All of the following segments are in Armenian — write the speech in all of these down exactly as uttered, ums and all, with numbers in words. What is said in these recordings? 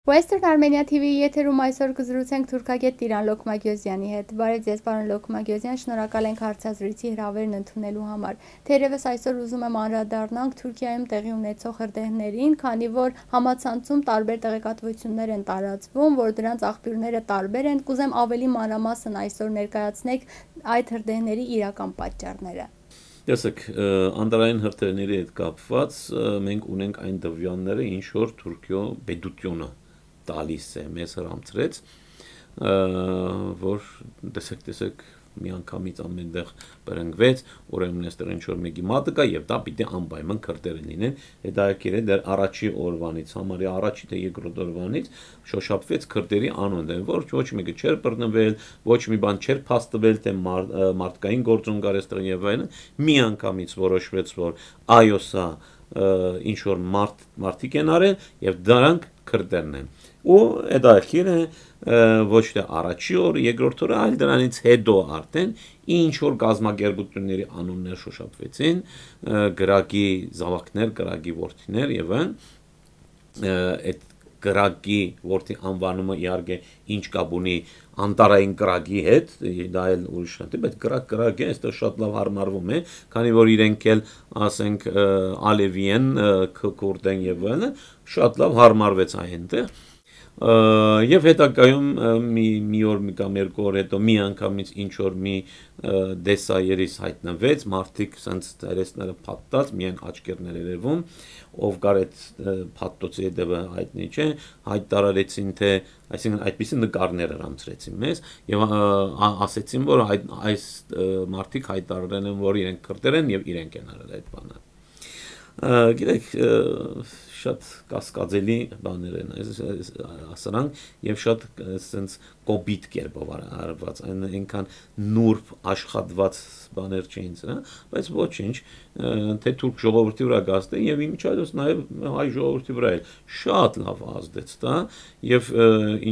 Western Armenia T V-ի եթերում այսօր կզրուցենք թուրքագետ Տիրան Լոկմագյոզյանի հետ։ Բարև ձեզ, պարոն Լոկմագյոզյան, շնորհակալ ենք հարցազրույցի հրավերն ընդունելու համար։ Թերևս այսօր ուզում եմ անդրադառնանք Թուրքիայում տեղի ունեցող հրդեհներին, քանի որ համացանցում տարբեր տեղեկատվություններ են տարածվում, որ դրանց աղբյուրները տարբեր են։ Կուզեմ ավելի մանրամասն այսօր ներկայացնեք այդ հրդեհների իրական պատճառները։ Տեսեք, անդրային հրդեհների հետ կապված մենք ունենք այն դվյանները, ինչ որ Թուրքիո պետությունը տալիս է մեզ հրամցրեց, որ տեսեք, տեսեք, միանգամից ամենտեղ բրնգվեց, ուրեմն այստեղ ինչ որ մեկի մատը կա եւ դա պիտի անպայման քրդերը լինեն, հետաքրքիր է դեռ առաջի օրվանից, համարյա առաջի թե երկրորդ օրվանից շոշափվեց քրդերի անունը, որ ոչ մեկը չէր բռնվել, ոչ մի բան չէր փաստվել, թե մարդկային գործոն կար այստեղ եւ այլն, միանգամից որոշվեց, որ այո, սա ինչ որ մարդ մարդիկ են արել եւ դրանք քրդերն են։ Ու հետաքրքիր է ոչ թե առաջի օր, երկրորդ օրը, այլ դրանից հետո արդեն ինչ որ գազམ་ագերբությունների անուններ շոշափվեցին, գրագի զավակներ, գրագի որդիներ եւ այդ գրագի որդի անվանումը իհարկե ինչ կապ ունի անտարային գրագի հետ, դա էլ ուրիշ է, բայց գրագ գրագը այստեղ շատ լավ հարմարվում է, քանի որ իրենք էլ ասենք ալևի են, քուրդ են եւ այլն, շատ լավ հարմարվեց այնտեղ։ Եվ հետագայում մի մի օր մի կամ երկու օր հետո մի անգամից ինչ որ մի դեսայերից հայտնվեց, մարդիկ սենց դերեսները փաթթած, միայն աչքերներ երևում, ով կար այդ փաթթոցի հետևը հայտնի չէ, հայտարարեցին թե, այսինքն այդպիսի նկարներ հրամցրեցին մեզ եւ ասեցին, որ այս մարդիկ հայտարարել են, որ իրենք քրդեր են եւ իրենք են արել այդ բանը։ Գիտեք, շատ կասկածելի բաներ են ասրանք եւ շատ sense կոպիտ կերպով արված, այնքան նուրբ աշխատված բաներ չէին, հա, բայց ոչինչ, թե թուրք ժողովրդի վրա գազդեն եւ իմիջիայլոց նաեւ հայ ժողովրդի վրա էլ շատ լավ ազդեց դա եւ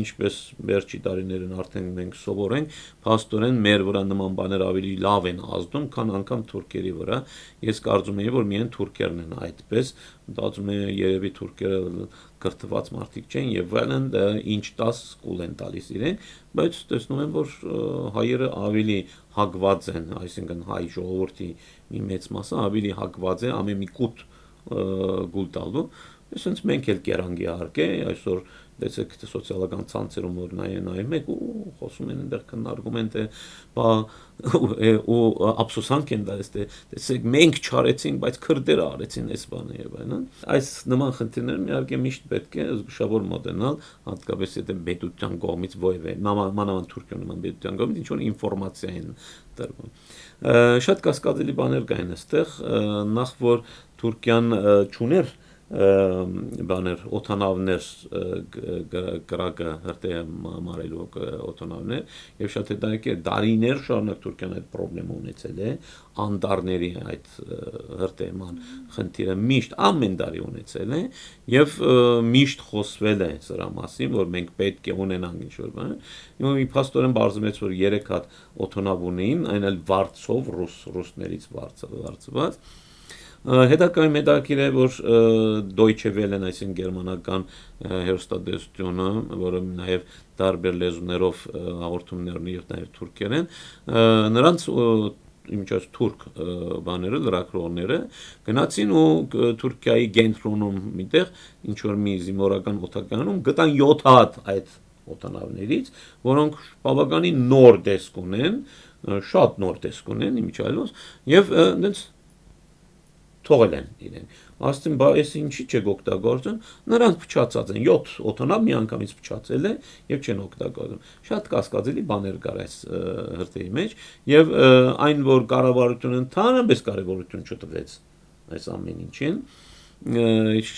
ինչպես վերջի տարիներին արդեն մենք սովորենք, փաստորեն մեր վրա նման բաներ ավելի լավ են ազդում, քան անգամ թուրքերի վրա։ Ես կարծում եմ, որ միայն թուրքերն են այդպես, մտածում եմ երևի թուրքերը կրթված մարդիկ չեն եւ այլն ինչ տաս կուլ են տալիս իրեն, բայց տեսնում եմ, որ հայերը ավելի հակված են, այսինքն հայ ժողովրդի մի մեծ մասը ավելի հակված է ամեն մի կուտ գուլ տալու, այսինքն մենք էլ կերանք իհարկե, այսօր տեսեք սոցիալական ցանցերում որ նայեն նայում եք ու խոսում են այնտեղ քննարկում են թե բա ու ափսոսանք են դալիս թե տեսեք մենք չարեցինք բայց քրդերը արեցին այս բանը եւ այլն այս նման խնդիրներն իհարկե միշտ պետք է զգուշավոր մոտենալ հատկապես եթե պետության կողմից ոյվե մանավանդ Թուրքիա նման պետության կողմից ինչ որ ինֆորմացիա են տրվում շատ կասկածելի բաներ կային այստեղ նախ որ Թուրքիան չուներ բաներ օթանավներ գրակը հրտե մարելու օթանավներ եւ շատ հետաքրքիր դարիներ շարունակ Թուրքիան այդ խնդրեմը ունեցել է անտառների այդ հրտեման խնդիրը միշտ ամեն տարի ունեցել է եւ միշտ խոսվել է սրա մասին որ մենք պետք է ունենանք ինչ որ բան ու փաստորեն բարձրացեց որ երեք հատ օթանավ ունեին այն էլ վարձով ռուս ռուսներից վարձված Հետագայում հետաքրքիր է, որ Deutsche Welle-ն, այսինքն գերմանական հեռուստատեսությունը, որը նաև տարբեր լեզուներով հաղորդումներ ունի եւ նաև թուրքերեն, նրանց իմիջիայլոց թուրք բաները, լրագրողները գնացին ու Թուրքիայի կենտրոնում միտեղ ինչ որ մի զինվորական օթականում գտան յոթ հատ այդ օթանավներից, որոնք բավականին նոր տեսք ունեն, շատ նոր տեսք ունեն իմիջիայլոց եւ այնց թողել են իրեն։ Ասում բա այս ինչի՞ չեք օգտագործում։ Նրանց փչացած են յոթ օթանավ մի անգամից փչացել է եւ չեն օգտագործում։ Շատ կասկածելի բաներ կար այս հրտեհի մեջ եւ այն որ կառավարությունը ընդհանրապես կարևորություն չտվեց այս ամեն ինչին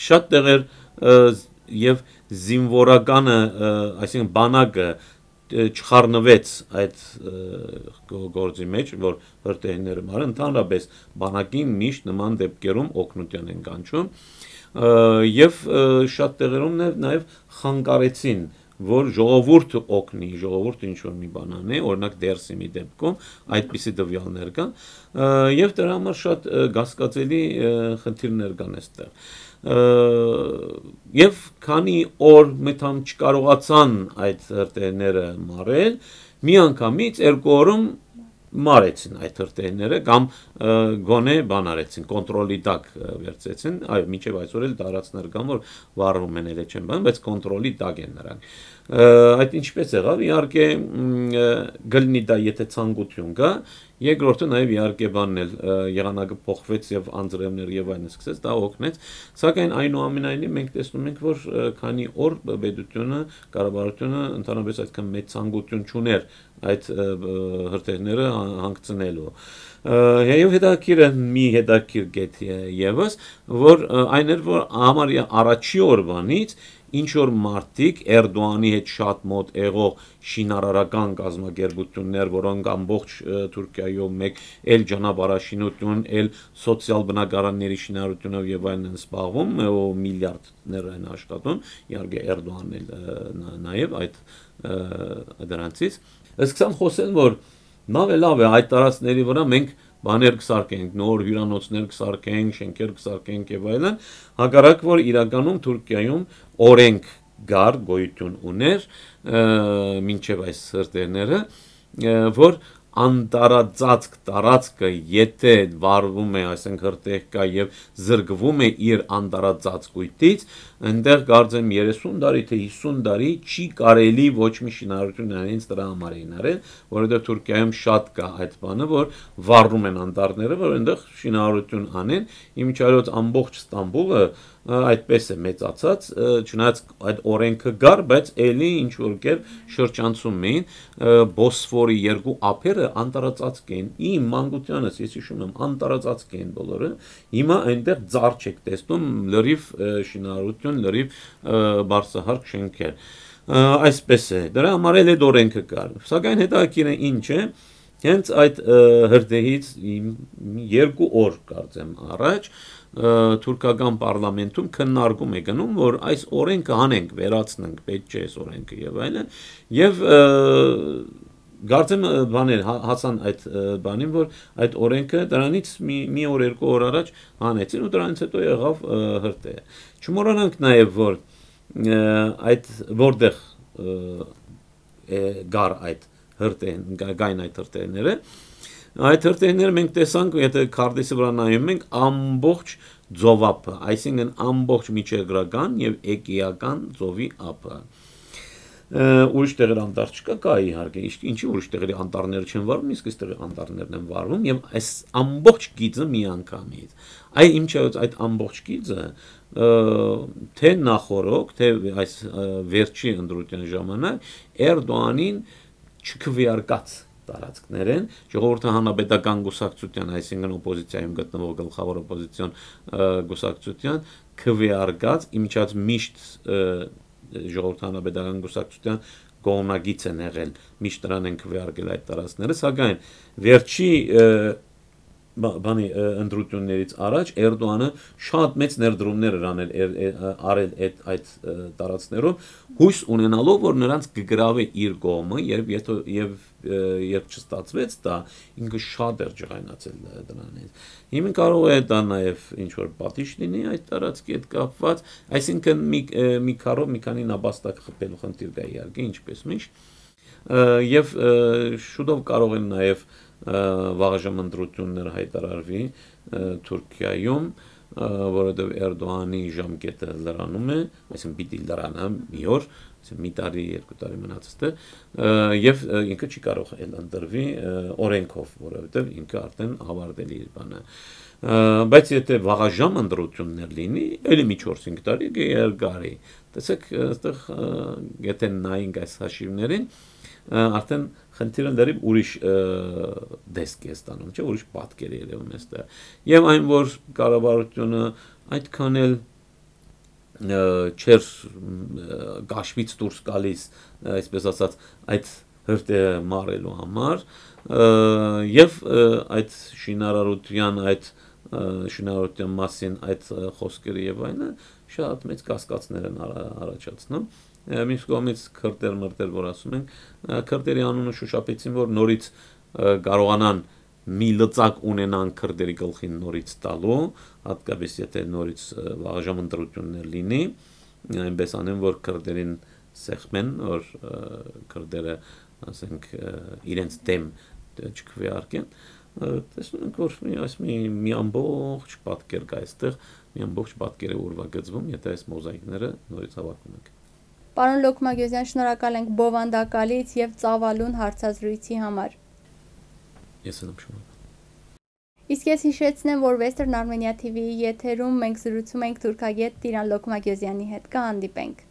շատ տեղեր եւ զինվորականը, այսինքն բանակը չխառնվեց այդ գործի մեջ, որ հրտեհները մարը ընդհանրապես բանակին միշտ նման դեպքերում օգնության են կանչում եւ շատ տեղերում նաեւ խանգարեցին որ ժողովուրդը օգնի, ժողովուրդը ինչ-որ մի բան անի, օրինակ Դերսիմի դեպքում այդպիսի տվյալներ կան, եւ դրա համար շատ կասկածելի խնդիրներ կան այստեղ։ Եվ քանի օր մտամ չկարողացան այդ հրթիռները մարել, միանգամից երկու օրում մարեցին այդ հրթիռները կամ գոնե բան արեցին, կոնտրոլի տակ վերցեցին, այո, մինչև այսօր էլ տարածքներ կան, որ վառվում են, էլ չեն բան, բայց կոնտրոլի տակ են նրանք։ Այդ ինչպես եղավ, իհարկե գլնի դա եթե ցանկություն կա, երկրորդը նաև իհարկե բանն էլ եղանակը փոխվեց եւ անձրևներ եւ այլն սկսեց, դա օգնեց, սակայն այնուամենայնիվ մենք տեսնում ենք, որ քանի օր պետությունը, կառավարությունը ընդհանրապես այդքան մեծ ցանկություն չուներ այդ հրթիռները հանգցնելու։ Եվ հետաքրքիր մի հետաքրքիր գետ եւս, որ այն էր, որ համարյա առաջի օրվանից ինչ որ մարդիկ Էրդողանի հետ շատ մոտ եղող շինարարական կազմակերպություններ, որոնք ամբողջ Թուրքիայում մեկ էլ ճանապարհաշինություն, էլ սոցիալ բնակարանների շինարարությունով եւ այլն են զբաղվում, միլիարդներ են աշխատում, իհարկե Էրդողանն էլ նաեւ այդ դրանցից սկսան խոսել, որ լավ է, լավ է, այդ տարածքների վրա մենք բաներ կսարքենք, նոր հյուրանոցներ կսարքենք, շենքեր կսարքենք եւ այլն, հակառակ որ իրականում Թուրքիայում օրենք գար գոյություն ուներ մինչև այս հրթիռները, որ անտարածածկ տարածքը եթե վառվում է, այսինքն հրթիռ կա եւ զրկվում է իր անտարածածկույթից, այնտեղ կարծեմ երեսուն տարի թե հիսուն տարի չի կարելի ոչ մի շինարարություն անել, ինձ դրա համար էին արել, որովհետեւ Թուրքիայում շատ կա այդ բանը, որ վառում են անտառները, որ այնտեղ շինարարություն անեն, իմիջիայլոց ամբողջ Ստամբուլը այդպես է մեծացած, չնայած այդ օրենքը գար, բայց ելի ինչ որ կերպ շրջանցում էին, Բոսֆորի երկու ափերը անտարածածկ էին, իմ մանկությանս ես հիշում եմ, անտարածածկ էին բոլորը, հիմա այնտեղ ծառ չեք տեսնում, լրիվ շինարարություն, լրիվ բարձրահարկ շենքեր, այսպես է, դրա համար էլ այդ օրենքը կար, սակայն հետաքրքիր է ինչ է, հենց այդ հրթիռից երկու օր կարծեմ առաջ թուրքական պարլամենտում քննարկում է գնում, որ այս օրենքը հանենք, վերացնենք, պետք չէ այս օրենքը եւ այլն, եւ կարծեմ բաներ հասան այդ բանին, որ այդ օրենքը դրանից մի, մի օր երկու օր առաջ հանեցին ու դրանից հետո եղավ հրթիռը։ Չմոռանանք նաեւ, որ այդ որտեղ գար այդ հրթիռ, գային այդ հրթիռները, այդ հրթիռները մենք տեսանք, եթե քարտեզի վրա նայում ենք, ամբողջ ծովափը, այսինքն ամբողջ միջերգրական եւ էկիական ծովի ափը։ Ուրիշ տեղեր անտառ չկա, կա իհարկե, ինչի ուրիշ տեղերի անտառները չեն վառվում, իսկ այս տեղի անտառներն են վառվում եւ այս ամբողջ գիծը միանգամից։ Այ ինչայց այդ ամբողջ գիծը թե նախորոք, թե այս վերջի ընտրության ժամանակ Էրդողանին չքվեարկած տարածքներ են, ժողովրդի հանրապետական գուսակցության, այսինքն օպոզիցիայում գտնվող գլխավոր օպոզիցիոն գուսակցության քվեարկած, իմիջիայլոց միշտ ժողովրդի հանրապետական գուսակցության կողմնակից են եղել, միշտ դրան են քվեարկել այդ տարածքները, սակայն վերջի բանի ընտրություններից առաջ Էրդողանը շատ մեծ ներդրումներ էր անել արել այդ այդ տարածքներում, հույս ունենալով, որ նրանց կգրավի իր կողմը, երբ եւ երբ չստացվեց դա, ինքը շատ էր ջղայնացել դրանից։ Հիմա կարող է դա նաեւ ինչ որ պատիժ լինի այդ տարածքի հետ կապված, այսինքն մի մի քարով մի քանի նապաստակ խփելու խնդիր կա իհարկե, ինչպես միշտ, եւ շուտով կարող են նաեւ վաղաժամ ընտրություններ հայտարարվի Թուրքիայում, որովհետև Էրդողանի ժամկետը լրանում է, այսինքն պիտի լրանա մի օր, մի տարի, երկու տարի մնացած է, եւ ինքը չի կարող ընտրվի օրենքով, որովհետև ինքը արդեն ավարտելի է բանը։ Բայց եթե վաղաժամ ընտրություններ լինի, ելի մի չորս-հինգ տարի կերկարի։ Տեսեք, այստեղ եթե նայենք այս հաշիվներին, արդեն խնդիրը դեռ ուրիշ դեսկ է ստանում, չէ, ուրիշ պատկեր է երևում այստեղ։ Եվ այն որ կառավարությունը այդքան էլ չեր գաշվից դուրս գալիս, այսպես ասած, այդ հրթիռը մարելու համար, եւ այդ շինարարության այդ շինարարության մասին այդ խոսքերը եւ այլն շատ մեծ կասկածներ են առաջացնում Մյուս կողմից քրդեր մրտեր որ ասում ենք, քրդերի անունը շոշափեցին, որ նորից կարողանան մի լծակ ունենան քրդերի գլխին նորից տալու, հատկապես եթե նորից վաղաժամ ընտրություններ լինի, այնպես անեն, որ քրդերին սեղմեն, որ քրդերը, ասենք, իրենց դեմ չքվեարկեն, տեսնում ենք, որ այս մի, մի ամբողջ պատկեր կա այստեղ, մի ամբողջ պատկեր է ուրվագծվում, եթե այս մոզաիկները նորից հավաքում ենք։ Պարոն Լոքմագյոզյան, շնորհակալ ենք բովանդակալից եւ ծավալուն հարցազրույցի համար։ Ես եմ շնորհակալ։ Իսկ ես հիշեցնեմ, որ Western Armenia T V-ի եթերում մենք զրուցում ենք թուրքագետ Տիրան Լոքմագյոզյանի հետ։ Կհանդիպենք։